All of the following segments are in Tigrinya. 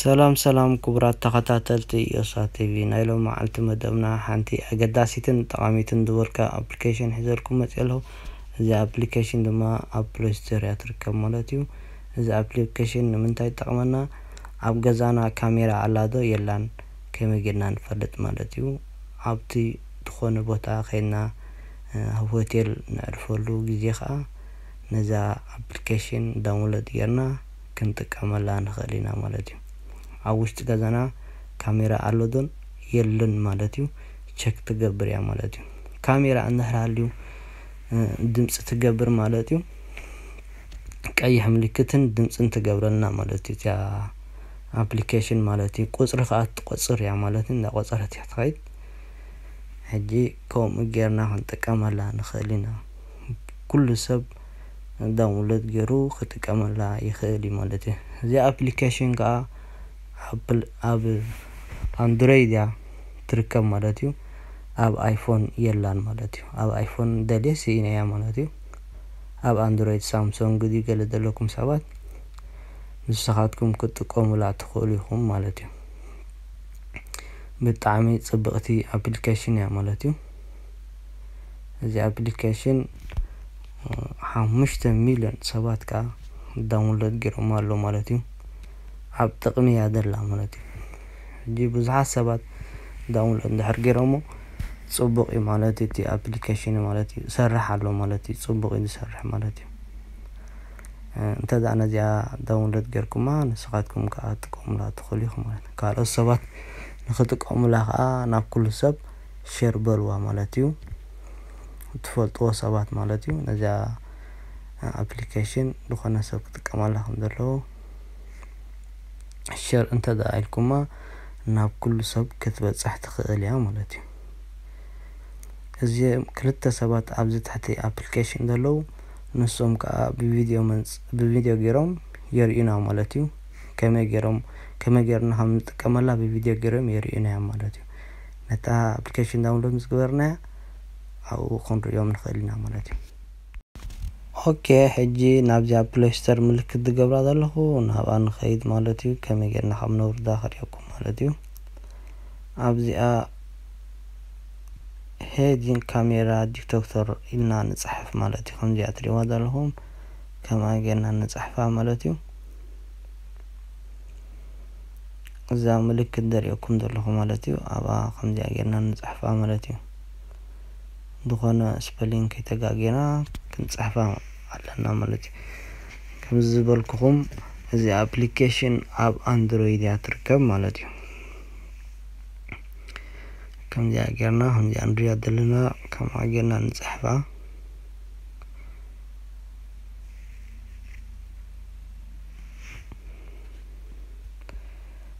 ሰላም ሰላም ክቡራት ተኸታተልቲ ዮሳ ቲቪ፣ ናይ ሎም መዓልቲ መደብና ሓንቲ ኣገዳሲትን ጠቓሚትን ዝበልካ ኣፕሊኬሽን ሒዘልኩም መፅእ ኣለኹ። እዚ ኣፕሊኬሽን ድማ ኣብ ፕሌይ ስቶር እያ ትርከብ ማለት እዩ። እዚ ኣፕሊኬሽን ንምንታይ ይጠቕመና? ኣብ ገዛና ካሜራ ኣላ ዶ የላን ከመይ ጌርና ንፈልጥ ማለት እዩ። ኣብቲ ዝኾነ ቦታ ከይድና ኣብ ሆቴል ነዕርፈሉ ግዜ ከዓ ነዛ ኣፕሊኬሽን ዳውንሎድ ጌርና ክንጥቀመላ ንኽእል ኢና ማለት እዩ። ኣብ ውሽጢ ገዛና ካሜራ ኣሎ ዶን የለን ማለት እዩ ቸክ ትገብር እያ ማለት እዩ። ካሜራ እንድሕር ሃልዩ ድምፂ ትገብር ማለት እዩ። ቀይሕ ምልክትን ድምፅን ትገብረልና ማለት እዩ እዚኣ ኣፕሊኬሽን ማለት እዩ። ቁፅሪ ከዓ ትቆፅር እያ ማለት እዩ። እንዳቆፀረት እያ ትኸይድ። ሕጂ ከምኡ ጌርና ክንጥቀመላ ንኽእል ኢና። ኩሉ ሰብ ዳውንሎድ ገይሩ ክጥቀመላ ይኽእል እዩ ማለት እዩ። እዚኣ ኣፕሊኬሽን ከዓ ኣብ ኣንድሮይድ እያ ትርከብ ማለት እዩ። ኣብ ኣይፎን የላን ማለት እዩ። ኣብ ኣይፎን ደልየ ስኢነያ ማለት እዩ። ኣብ ኣንድሮይድ ሳምሶንግ ድዩ ገለ ዘለኩም ሰባት ንስኻትኩም ክትጥቀሙላ ትኽእሉ ኢኹም ማለት እዩ። ብጣዕሚ ፅብቕቲ ኣፕሊኬሽን እያ ማለት እዩ። እዚ ኣፕሊኬሽን ሓሙሽተ ሚሊዮን ሰባት ከዓ ዳውንሎድ ገይሮም ኣሎ ማለት እዩ። ኣብ ጥቕሚ እያ ዘላ ማለት እዩ። ሕጂ ብዙሓት ሰባት ዳውንሎድ እንድሕር ገይሮሞ ፅቡቕ እዩ ማለት እዩ። እቲ ኣፕሊኬሽን ማለት እዩ ሰርሕ ኣሎ ማለት እዩ። ፅቡቕ እዩ ዝሰርሕ ማለት እዩ። እንተ ደኣ ነዚኣ ዳውንሎድ ጌርኩማ ንስኻትኩም ከዓ ትጥቀሙላ ትኽእሉ ኢኹም ማለት እዩ። ካልኦት ሰባት ንኽጥቀሙላ ከዓ ናብ ኩሉ ሰብ ሼር በልዋ ማለት እዩ። እትፈልጥዎ ሰባት ማለት እዩ። ነዚኣ ኣፕሊኬሽን ዝኾነ ሰብ ክጥቀመላ ከም ዘለዎ ሸር እንተ ደኣ ኢልኩማ ናብ ኩሉ ሰብ ክትበፅሕ ትኽእል እያ ማለት እዩ። እዚ ክልተ ሰባት ኣብዚ ትሕቲ ኣፕሊኬሽን ዘለዉ ንሶም ከዓ ብቪድዮ መንፅ ብቪድዮ ገይሮም የርእዩና ማለት እዩ። ከመይ ገይሮም ከመይ ገይርና ከም ንጥቀመላ ብቪድዮ ገይሮም የርእዩና እዮም ማለት እዩ። ነታ ኣፕሊኬሽን ዳውንሎድ ምስ ግበርናያ ኣብኡ ክንርእዮም ንኽእል ኢና ማለት እዩ። ኦኬ፣ ሕጂ ናብዚኣ ፕሌይ ስቶር ምልክት ዝገብራ ዘለኹ ናብኣ ንኸይድ ማለት እዩ። ከመይ ጌርና ካብ ነውርዳ ከርእየኩም ማለት እዩ። ኣብዚኣ ሄዲን ካሜራ ዲቴክተር ኢልና ንፅሕፍ ማለት እዩ። ከምዚኣ ትሪእዋ ዘለኹም ከምኣ ጌርና ንፅሕፋ ማለት እዩ። እዛ ምልክት ዘርእየኩም ዘለኹ ማለት እዩ። ኣብኣ ከምዚኣ ጌርና ንፅሕፋ ማለት እዩ። ዝኾነ ስፐሊንግ ከይተጋጌና ክንፅሕፋ ኣለና ማለት እዩ። ከምዚ ዝበልኩኹም እዚ ኣፕሊኬሽን ኣብ ኣንድሮይድ እያ ትርከብ ማለት እዩ። ከምዚኣ ጌርና ከምዚኣ ንሪኣ ዘለና ከምኣ ጌርና ንፅሕፋ።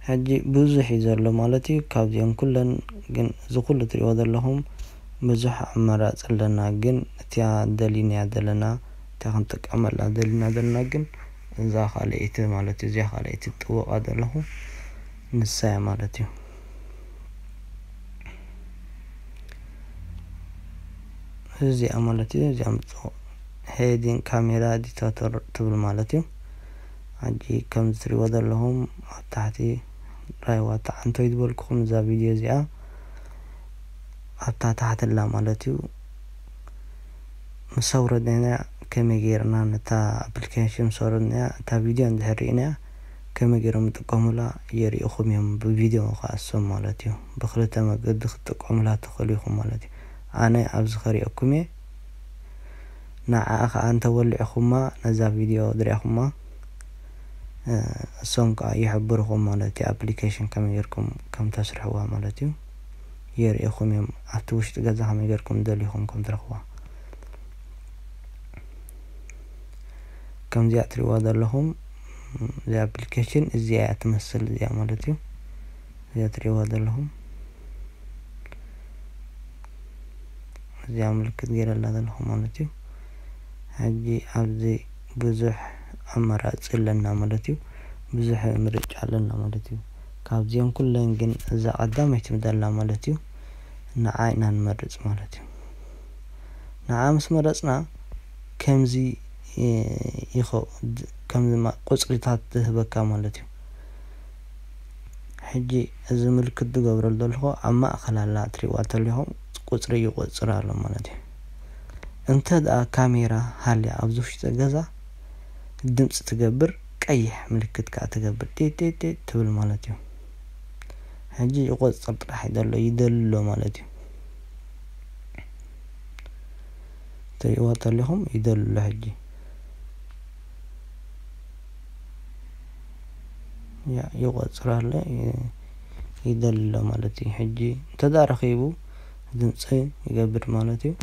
ሕጂ ብዙሕ እዩ ዘሎ ማለት እዩ። ካብዚኦም ኩለን ግን እዚ ኩሉ ትሪእዎ ዘለኹም ብዙሕ ኣማራፂ ኣለና፣ ግን እቲያ ደሊናያ ዘለና እቲያ ክንጥቀመላ ደሊና ዘለና ግን እዛ ካልኣይቲ ማለት እዩ። እዚኣ ካልኣይቲ ጥወቃ ዘለኹ ንሳ እያ ማለት እዩ። እዚኣ ማለት እዩ። እዚኣ ምፅኦ ሄዲን ካሜራ ዲቴክተር ትብል ማለት እዩ። ሕጂ ከም እትሪእዎ ዘለኹም ኣብ ታሕቲ ራይዋ ተዓንቶይ ዝበልኩኹም እዛ ቪድዮ እዚኣ ኣብታ ታሕቲ ኣላ ማለት እዩ። ምስ ኣውረድናያ ከመይ ጌርና ነታ ኣፕሊኬሽን ምስ ኣውረድናያ እታ ቪድዮ እንድሕር ርኢናያ ከመይ ጌሮም ይጥቀሙላ የርእኹም እዮም። ብቪድዮ ከኣሶም ማለት እዩ። ብክልተ መገዲ ክትጥቀሙላ ትኽእሉ ኢኹም ማለት እዩ። ኣነ ኣብዚ ከርእየኩም እየ። ንዓኣ ከኣ እንተወሊዕኹማ ነዛ ቪድዮ ድሪኣኹማ እሶም ከኣ ይሕብርኹም ማለት እዩ። ኣፕሊኬሽን ከመይ ጌርኩም ከም ተስርሕዋ ማለት እዩ። የርእኹም እዮም። ኣብቲ ውሽጢ ገዛ ከመይ ጌርኩም ደሊኹም ከም ትረኽዋ። ከምዚኣ ትሪእዋ ዘለኹም እዚ ኣፕሊኬሽን እዚኣ እያ ትመስል እዚኣ ማለት እዩ። እዚኣ ትሪእዋ ዘለኹም እዚኣ ምልክት ገይረላ ዘለኹ ማለት እዩ። ሕጂ ኣብዚ ብዙሕ ኣማራፂ ኣለና ማለት እዩ። ብዙሕ ምርጫ ኣለና ማለት እዩ። ካብዚኦም ኩለን ግን እዛ ቀዳመይቲ ምደላ ማለት እዩ። ንዓ ኢና ንመርፅ ማለት እዩ። ንዓ ምስ መረፅና ከምዚ ይኸ ከምዚ ቁፅሪታት ዝህበካ ማለት እዩ። ሕጂ እዚ ምልክት ዝገብረሉ ዘለኹ ኣብ ማእኸል ኣላ፣ ትሪእዋ ተለኹም ቁፅሪ ይቆፅር ኣሎ ማለት እዩ። እንተ ደኣ ካሜራ ሃልያ ኣብዚ ውሽጢ ገዛ ድምፂ ትገብር፣ ቀይሕ ምልክት ከዓ ትገብር፣ ጢጢጢ ትብል ማለት እዩ። ሕጂ ይቆፅር ጥራሕ እዩ ዘሎ፣ ይደልሎ ማለት እዩ። ትሪእዋ ተለኹም ይደልሎ ሕጂ። ያ ይቆፅር ኣሎ፣ ይ- ይደልሎ ማለት እዩ። ሕጂ እንተዳ ረኺቡ ድምፂ ይገብር ማለት እዩ።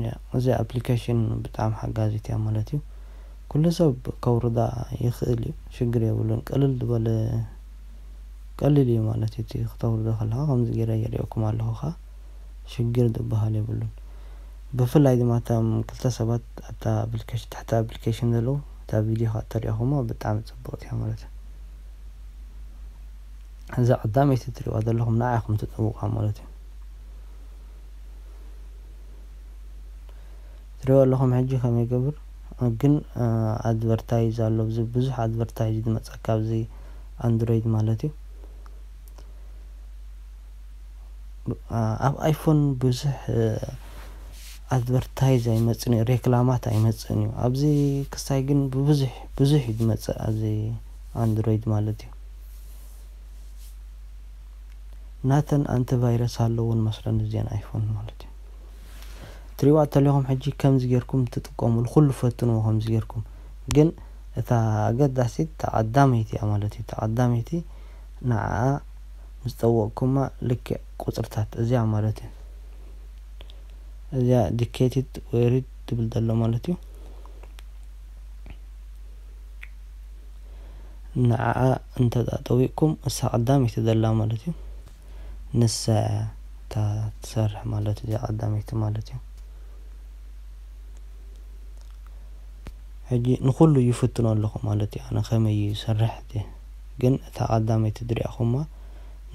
ያ እዚ ኣፕሊኬሽን ብጣዕሚ ሓጋዚት እያ ማለት እዩ። ኩሉ ሰብ ከውርዳ ይኽእል እዩ፣ ሽግር የብሉን። ቀልል ዝበለ ቀሊል እዩ ማለት እዩ። እቲ ክተውርዶ ከለኻ ከምዚ ገይረ የርእየኩም ኣለኹ ኸዓ፣ ሽግር ዝበሃል የብሉን። ብፍላይ ድማ እቶም ክልተ ሰባት ኣብታ ኣፕሊኬሽን፣ ትሕቲ ኣፕሊኬሽን ዘለዉ፣ እታ ቪድዮ ኸዓ ተሪእኹሞ ብጣዕሚ ጽብቕቲ እያ ማለት እዩ። እዛ ቀዳመይቲ ትሪእዋ ዘለኹም ንዓ ኢኹም ትጥውቓ ማለት እዩ። ትሪእዎ ኣለኹም ሕጂ ከመይ ይገብር ግን፣ እ፣ ኣድቨርታይዝ ኣሎ፣ ብዙ፣ ብዙሕ ኣድቨርታይዝ ዝመጸካ ኣብዚ ኣንድሮይድ ማለት እዩ። ብ-፣ እ፣ ኣብ ኣይፎን ብዙሕ፣ እ፣ ኣድቨርታይዝ ኣይመጽን እዩ፣ ሬክላማት ኣይመጽን እዩ። ኣብዚ ክስታይ ግን ብብዙሕ፣ ብዙሕ እዩ ዝመጽእ ኣብዚ ኣንድሮይድ ማለት እዩ። ናተን ኣንቲቫይረስ ኣለውን መስለን እዚአን ኣይፎን ማለት እዩ። ትሪእዋ ተለኹም ሕጂ ከምዚ ጌርኩም ትጥቀሙሉ፣ ኩሉ ፈትንዎ ከምዚ ጌርኩም። ግን እታ ኣገዳሲት እታ ቀዳመይቲ እያ ማለት እዩ። እታ ቀዳመይቲ ንዓኣ ምስ ጠወቕኩማ ልክዕ ቁጽርታት እዚኣ ማለት እዩ። እዚኣ ዲኬቲድ ወይ ሪድ ትብል ዘሎ ማለት እዩ። ንዓኣ እንተ ጠዊቕኩም እሳ ቀዳመይቲ ዘላ ማለት እዩ። ንሳ እታ ትሰርሕ ማለት እዩ፣ እዚኣ ቀዳመይቲ ማለት እዩ። ሕጂ ንኹሉ ይፍትኖ ኣለኹ ማለት እዩ። ኣነ ከመይ እዩ ይሰርሕ እቲ፣ ግን እታ ቀዳመይቲ ትሪእኹማ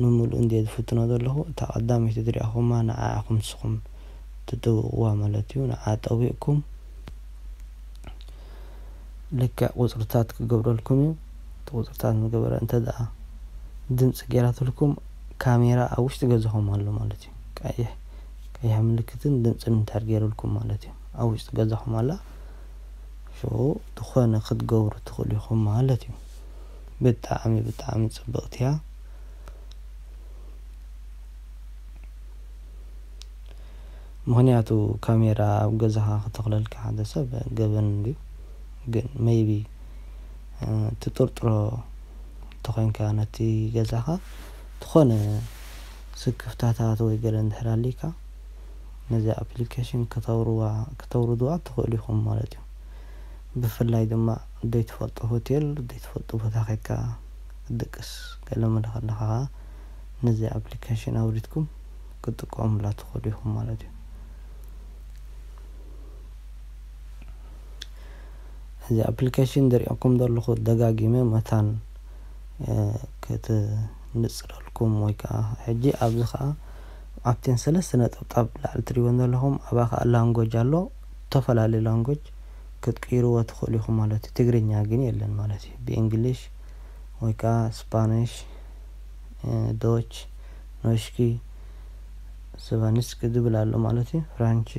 ንምሉእ እንድየ ዝፍትኖ ዘለኹ። እታ ቀዳመይቲ ትሪእኹማ ንዓ ኢኹም ንስኹም ትጥውቕዋ ማለት እዩ። ንዓ ጠዊቕኩም ልክዕ ቁጽርታት ክገብረልኩም እዩ። እቲ ቁጽርታት ዝገበረ እንተ ደኣ ድምጺ ገይራትልኩም፣ ካሜራ ኣብ ውሽጢ ገዛኹም ኣሎ ማለት እዩ። ቀይሕ፣ ቀይሕ ምልክትን ድምጽን እንድሕር ገይሩልኩም ማለት እዩ። ኣብ ውሽጢ ገዛኹም ኣላ። ሽዑ ዝኾነ ክትገብሩ ትኽእሉ ኢኹም ማለት እዩ። ብጣዕሚ፣ ብጣዕሚ ጽብቕቲ እያ። ምኽንያቱ ካሜራ ኣብ ገዛኻ ክተኽለልካ ሓደ ሰብ ገበን እንድዩ። ግን ሜይቢ፣ እ፣ ትጥርጥሮ እንተኾይንካ ነቲ ገዛኻ ዝኾነ ስክፍታታት ወይ ገለ እንድሕር ኣሊካ ነዚ ኣፕሊኬሽን ከተውርዋ-፣ ከተውርድዋ ትኽእሉ ኢኹም ማለት እዩ። ብፍላይ ድማ ዘይትፈልጦ ሆቴል፣ ዘይትፈልጦ ቦታ ኸይድካ ክትድቅስ ገለ መለ ከለኻ ኸዓ ነዚ ኣፕሊኬሽን ኣውሪድኩም ክትጥቀሙላ ትኽእሉ ኢኹም ማለት እዩ። እዚ ኣፕሊኬሽን ዝርእየኩም ዘለኹ ደጋጊመ መታን፣ እ፣ ክትንጽረልኩም ወይ ከዓ ሕጂ ኣብዚ ከዓ ኣብተን ሰለስተ ነጠብጣብ ላዕሊ ትሪእወን ዘለኹም፣ ኣብኣ ከዓ ላንጎጅ ኣሎ። ዝተፈላለዩ ላንጎጅ ክትቅይርዎ ትኽእሉ ኢኹም ማለት እዩ። ትግርኛ ግን የለን ማለት እዩ። ብእንግሊሽ ወይ ከዓ ስፓኒሽ፣ እ፣ ዶች፣ ኖሽኪ፣ ስቫኒስክ ዝብል ኣሎ ማለት እዩ። ፍራንቺ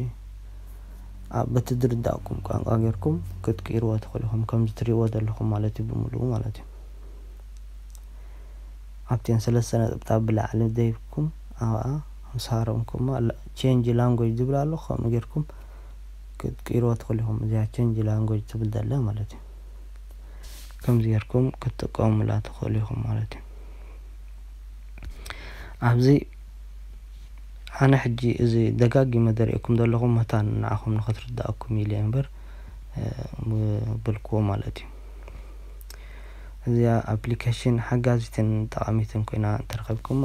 ኣብ በቲ ዝርዳእኩም ቋንቋ ጌርኩም ክትቅይርዎ ትኽእሉ ኢኹም፣ ከምዚ ትሪእዎ ዘለኹም ማለት እዩ፣ ብምሉኡ ማለት እዩ። ኣብተን ሰለስተ ነጥብታት ብላዕሊ ደይብኩም ኣብኣ ምስ ሃረምኩማ ላ-፣ ቼንጅ ላንጉጅ ዝብል ኣሎ፣ ከምኡ ጌርኩም ክትቅይርዎ ትኽእሉ ኢኹም። እዚኣ ቼንጅ ላንጉጅ ትብል ዘላ ማለት እዩ። ከምዚ ጌርኩም ክትጥቀሙላ ትኽእሉ ኢኹም ማለት እዩ። ኣብዚ ኣነ ሕጂ እዚ ደጋጊመ ዘርእየኩም ዘለኹ መታን ንዓኹም ንኽትርዳእኩም ኢለ እየ እምበር፣ እ፣ ብልክዎ ማለት እዩ። እዚኣ ኣፕሊኬሽን ሓጋዚትን ጠቓሚትን ኮይና እንተረኸብኩማ፣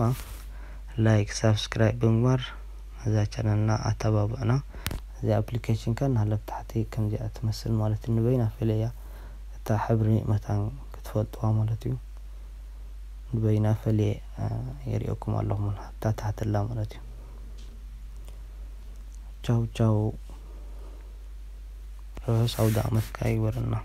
ላይክ፣ ሳብስክራይብ ብምግባር ነዛ ቻነልና ኣተባብዑና። እዚኣ ኣፕሊኬሽን ከ ናህለ ብታሕቲ ከምዚኣ ትመስል ማለት እዩ። ንበይና ፈልየ እያ። እታ ሕብሪ መታን ክትፈልጥዋ ማለት እዩ። ንበይና ፈልየ፣ እ፣ የርእየኩም ኣለኹ። ኣታ ታሕተላ ማለት እዩ። ቻው ቻው። ርሑስ ኣውደ ዓመት ከኣ ይግበረልና።